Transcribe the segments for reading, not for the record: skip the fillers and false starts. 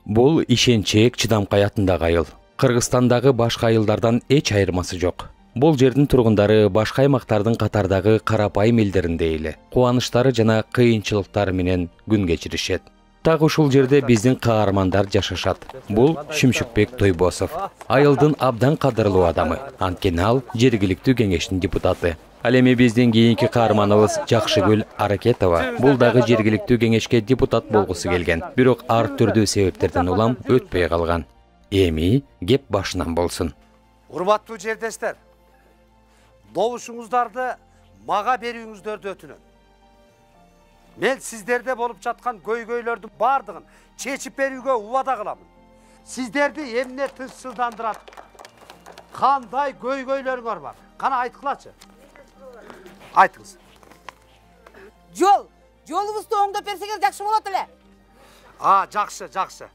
Бул ишенчээк чыдамкай атындагы айыл. Кыргызстандагы башка айылдардан эч айырмасы жок. Бул жердин тургундары башка аймактардын катардагы карапайым элдериндей эле кубанычтары жана кыйынчылыктары менен күн кечиришет. Так ушул жерде биздин каармандар жашашат. Бул Шүмшүкбек Тойбосов, айылдын абдан кадырлуу адамы. Анткени ал жергиликтүү кеңештин депутаты. Ал эми биздин кийинки каарманыбыз Жакшыгүл Аракетова. Бул дагы жергиликтүү кеңешке депутат болгусу келген, бирок ар түрдүү себептерден улам өтпөй калган. Эми кеп башынан болсун. Урматтуу жердештер, добушуңуздарды мага берүүңүздөрдү өтүнөм. Мен сиздерде болуп жаткан көйгөйлөрдүн бардыгын чечип берүүгө убада кыламын. Сиздерди эмне тынчсыздандырат? Кандай көйгөйлөрүңөр бар? Кана айткылачы. Айтыңыз. Жолубузду оңдоп берсеңер жакшы болот эле. Жакшы.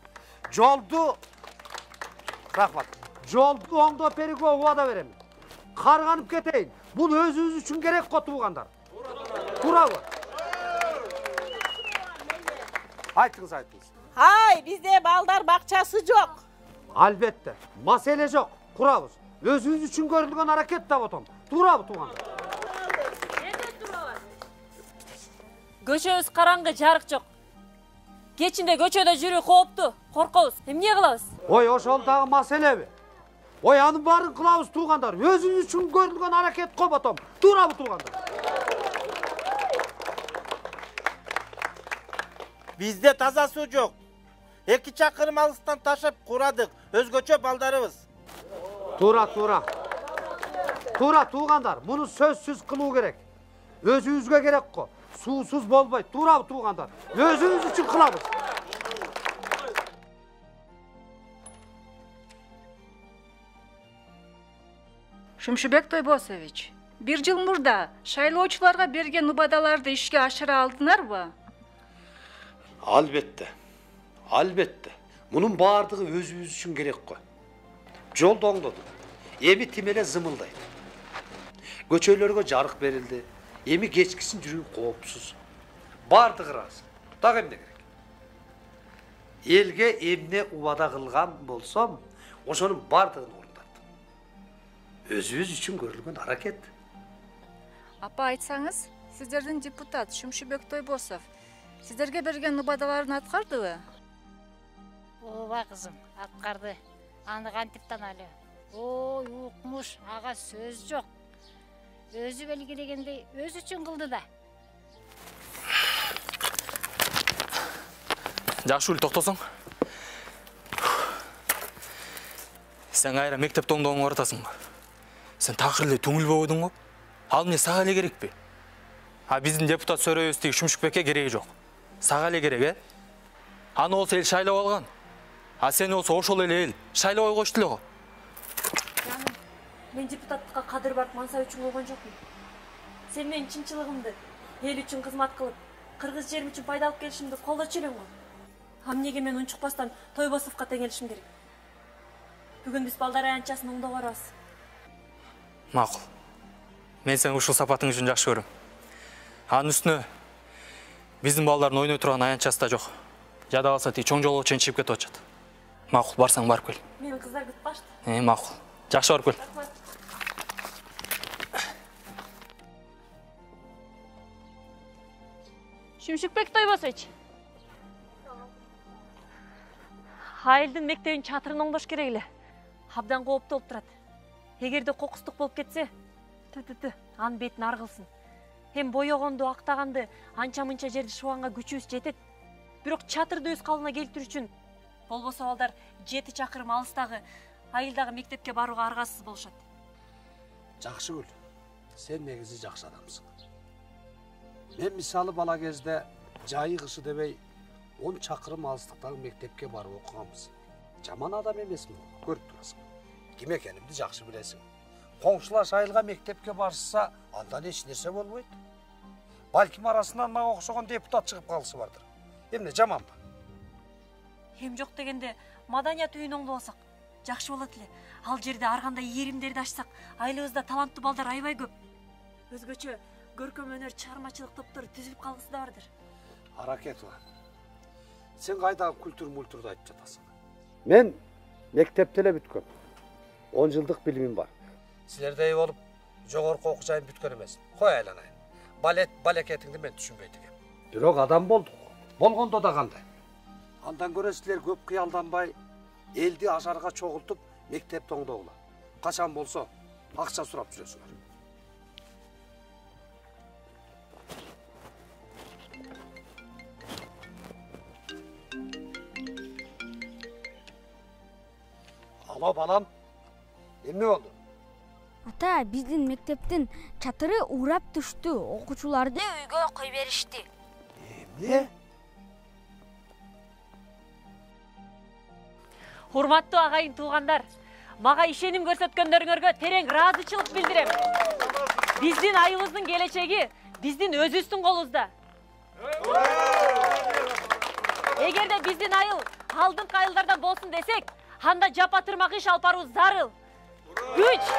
Рахмат. Жолду оңдоп берүүгө убада берем. Карганып кетейин. Бул өзүбүз үчүн керек го туугандар. Туурабы? Айтыңыз. Бизде балдар бакчасы жок. Албетте. Маселе жок. Курабыз. Өзүбүз үчүн көрүлгөн аракет да отом. Туурабы туугандар? Көчөбүз караңгы, жарык жок. Кечинде көчөдө жүрүү кооптуу, коркобуз. Эмне кылабыз? Ошол дагы маселеби? Анын баарын кылабыз туугандар. Өзүбүз үчүн көрүлгөн аракет коботом. Туурабы туугандар? Бизде таза суу жок. 2 чакырым алыстан ташып курадык. Өзгөчө балдарыбыз. Туура туугандар. Муну сөзсүз кылуу керек. Өзүбүзгө керек го. Суусуз болбойт. Туурабы туугандар? Өзүбүз үчүн кылабыз. Шүмшүбек Тойбосович, бир жыл мурда шайлоочуларга берген убадаларды ишке ашыра алдыңарбы? Албетте. Мунун баардыгы өзүбүз үчүн керек го. Жолду оңдодук. Эми тим эле зымылдайт. Көчөлөргө жарык берилди. Эми кечкисин жүрүү коопсуз. Баардыгы ыраазы. Дагы эмне керек? Элге эмне убада кылган болсом, ошонун баардыгын орундаттым. Өзүбүз үчүн көрүлгөн аракет. Апа, айтсаңыз, сиздердин депутат Шүмшүбек Тойбосов сиздерге берген убадаларын аткардыбы? Ооба кызым, аткарды. Аны кантип тааналы? Ой, укмуш, ага сөз жок. Өзү белгилегендей өз үчүн кылды да. Жакшыгүл, токтосоң. Сен кайра мектепте оңдооңо баратасың. Сен такыр эле түңүл болбодуң го? Ал эмне сага эле керекпи? Биздин депутат сөрөбүз тиги Шүмшүкбекке кереги жок. Сага эле керек, Аны болсо эл шайлап алган. Сени болсо ошол эле эл шайлабай коюшту эле го. Мен депутаттыкка кадыр барып мансап үчүн койгон жокмун. Сен менин чынчылыгымды, эл үчүн кызмат кылып, кыргыз жерим үчүн пайда алып келишимди колдочу элең го. Эмнеге мен унчукпастан Тойбосовго теңелишим керек? Бүгүн биз балдар аянтчасын оңдоп барабыз. Макул. Мен сени ушул сапатың үчүн жакшы көрөм. Анын үстүнө биздин балдардын ойной турган аянтчасы да жок. Жада калса тиги чоң жолго чейин чыгып кетип атышат. Макул, барсаң барып кел. Мени кыздар күтпашты. Макул. Жакшы барып кел. Шүмшүкбек Тойбосович. Айылдын мектебин чатырын оңдош керек эле. Абдан кооптуу болуп турат. Эгерде кокустук болуп кетсе, анын бетин аргылсын. Эм боёгонду, актаганды, анча-мынча жерди шубанга күчүбүз жетет. Бирок чатырды өз калыбына келтирүү үчүн болбосо балдар 7 чакырым алыстагы айылдагы мектепке барууга аргасыз болушат. Жакшыгүл, сен негизи жакшы адамсың. Мен мисалы бала кезде жайы кышы дебей 10 чакырым алыстыктагы мектепке барып окуганбыз. Жаман адам эмесмин, көрүп турасың. Ким экенимди жакшы билесиң. Коңшулаш айылга мектепке барышса, андан эч нерсе болбойт. Балким арасынан мага окшогон депутат чыгып калышы бардыр. Эмне жаманбы? Эм жок дегенде маданият үйүн оңдобосок жакшы болот эле. Ал жерде ар кандай ийримдерди ачсак, айылыбызда таланттуу балдар аябай көп. Өзгөчө көркөм өнөр чыгармачылык топтору түзүлүп калгысы да бардыр. Аракет бар. Сен кайдагы культур-мультурду айтып жатасың? Мен мектепте эле бүткөм. 10 жылдык билимим бар. Силердей болуп жогорку окуу жайын бүткөн эмес. Кой айланайын. Балет балекетиңди мен түшүнбөйт экем. Бирок адам болдук. Болгондо да кандай? Андан көрө силер көп кыялданбай, элди ажарга чогултуп мектепти оңдогула. Качан болсо акча сурап жүрөсүңөр. Ало, балам. Эмне болду? Ата, биздин мектептин чатыры урап түштү. Окуучуларды үйгө кой беришти. Эмне? Урматтуу агайын туугандар, мага ишеним көрсөткөндөрүңөргө терең ыраазычылык билдирем. Биздин айыбыздын келечеги биздин өзүбүздүн колубузда. Эгерде биздин айыл алдыңкы айылдардан болсун десек, анда жапа тырмак иш алып баруу зарыл. Күч